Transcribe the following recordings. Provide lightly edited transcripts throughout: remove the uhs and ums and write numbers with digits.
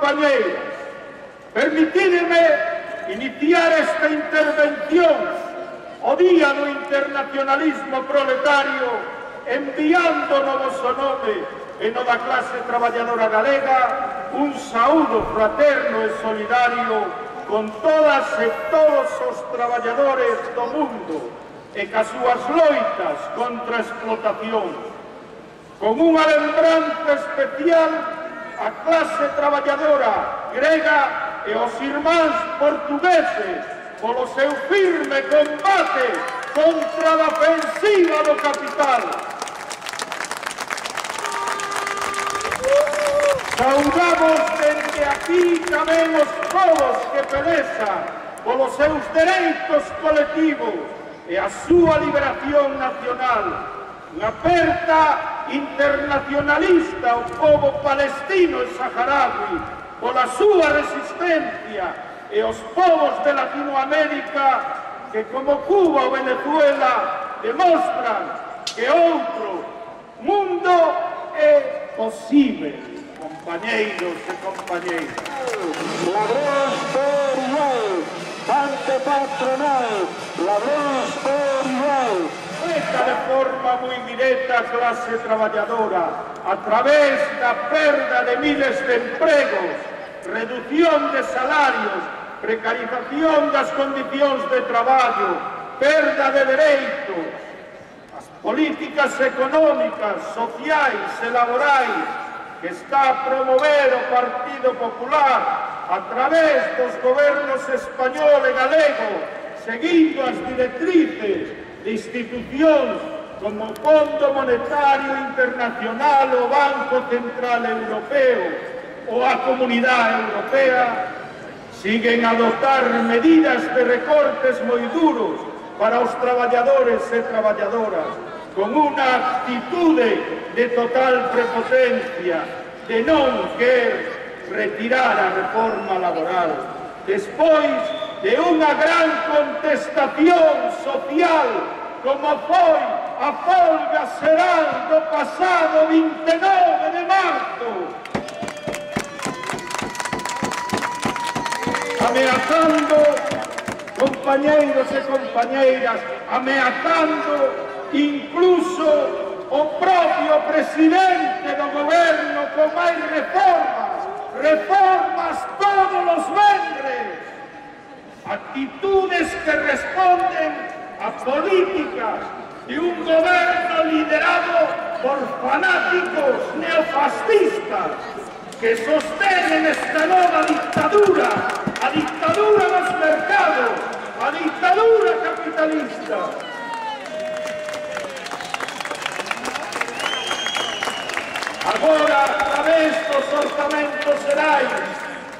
compañeras, permitidme iniciar esta intervención o Día do Internacionalismo Proletario enviando no vosso nome e no da clase traballadora galega un saúdo fraterno e solidario con todas e todos os traballadores do mundo e cas súas loitas contra a explotación. Con unha lembranza especial a clase traballadora grega e os irmáns portugueses polo seu firme combate contra a ofensiva do capital. Saudamos dende aquí tamén os povos que pelexan polos seus dereitos colectivos e a súa liberación nacional. Unha aperta internacionalista ao povo palestino e saharaui pola súa resistencia e os povos de Latinoamérica que, como Cuba ou Venezuela, demostran que outro mundo é posible. Compañeiros e compañeiras. Ladróns por igual, ante patronal, ladróns por igual. Esta de forma moi directa a clase traballadora, a través da perda de miles de empregos, reducción de salarios, precarización das condicións de traballo, perda de dereitos, as políticas económicas, sociais e laborais que está a promover o Partido Popular a través dos gobernos español e galego, seguindo as directrices de institucións como o Fondo Monetario Internacional, o Banco Central Europeo ou a Comunidade Europea, siguen a adoptar medidas de recortes moi duros para os traballadores e traballadoras, con unha actitude de total prepotencia, de non querer retirar a reforma laboral, despois de unha gran contestación social como foi a folga xeral do pasado 29 de marzo, ameazando, compañeiros e compañeiras, ameazando incluso o propio presidente do goberno con máis reformas todos os venres, actitudes que responden a políticas de un goberno liderado por fanáticos neofascistas que sostenen esta nova dictadura, a dictadura dos mercados, a dictadura capitalista. Agora, a través dos orzamentos xerais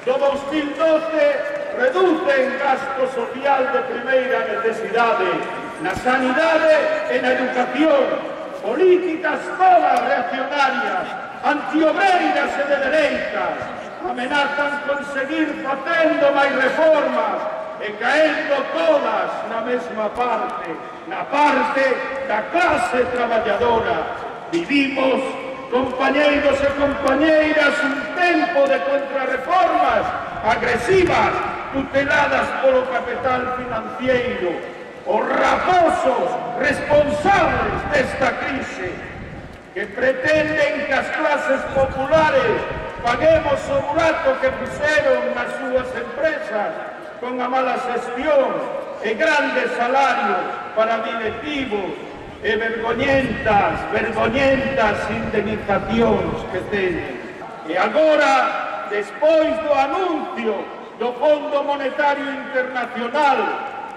do 2012, reducen gasto social de primeira necesidade na sanidade e na educación, políticas todas reaccionarias, antiobreiras e de dereitas, amenazan con seguir facendo máis reformas e caendo todas na mesma parte, na parte da clase traballadora. Vivimos, compañeiros e compañeiras, un tempo de contrarreformas agresivas tuteladas polo capital financiero, os raposos responsables desta crise que pretenden que as clases populares paguemos o burato que fixeron nas súas empresas con a mala xestión e grandes salarios para directivos e vergoñentas indemnizacións que teñen. E agora, despois do anuncio do Fondo Monetario Internacional,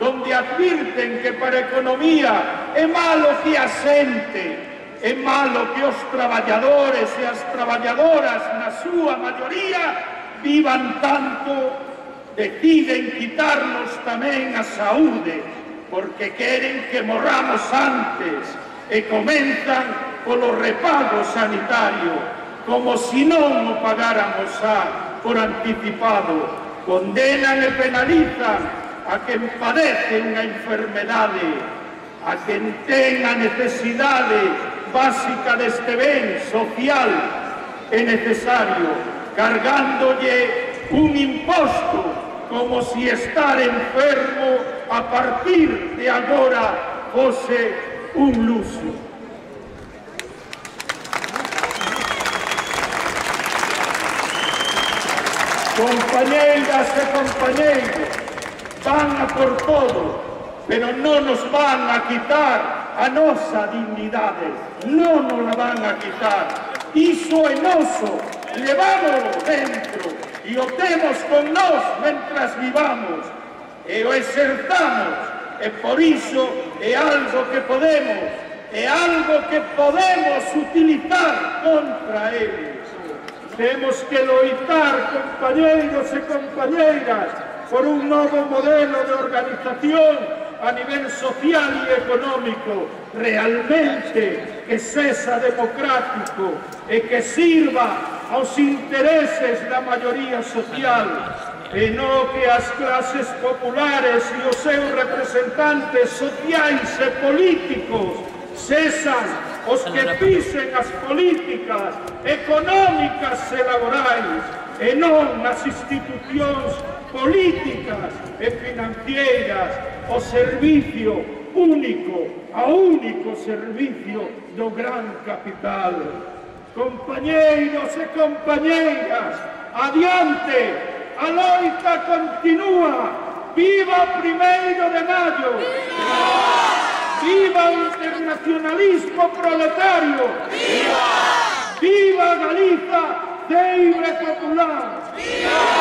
donde advirten que para a economía é malo que a xente, é malo que os traballadores e as traballadoras, na súa maioría, vivan tanto, deciden quitarnos tamén a saúde, porque queren que morramos antes e comenzan polo repago sanitario, como si non o pagáramos por anticipado. Condenan e penalizan a quen padece unha enfermedade, a quen ten a necesidade básica deste ben social e necesario, cargándolle un imposto como si estar enfermo a partir de agora fose un luxo. Compañeiras e compañeiros, van a por todo, pero non nos van a quitar a nosa dignidade, non nos la van a quitar. Iso é noso, levámoslo dentro e o temos con nós mentras vivamos e o exertamos, e por iso é algo que podemos utilizar contra eles. Temos que loitar, compañeiros e compañeiras, por un novo modelo de organización a nivel social e económico realmente que sexa democrático e que sirva aos intereses da maioría social e non que as clases populares e os seus representantes sociais e políticos sexan os que pisen as políticas económicas e laborais e non as institucións políticas e financieras, o servicio único, o único servicio do gran capital. Compañeiros e compañeiras, adiante, a loita continúa, viva o 1º de maio! ¡Viva el internacionalismo proletario! ¡Viva! ¡Viva Galiza libre popular! ¡Viva!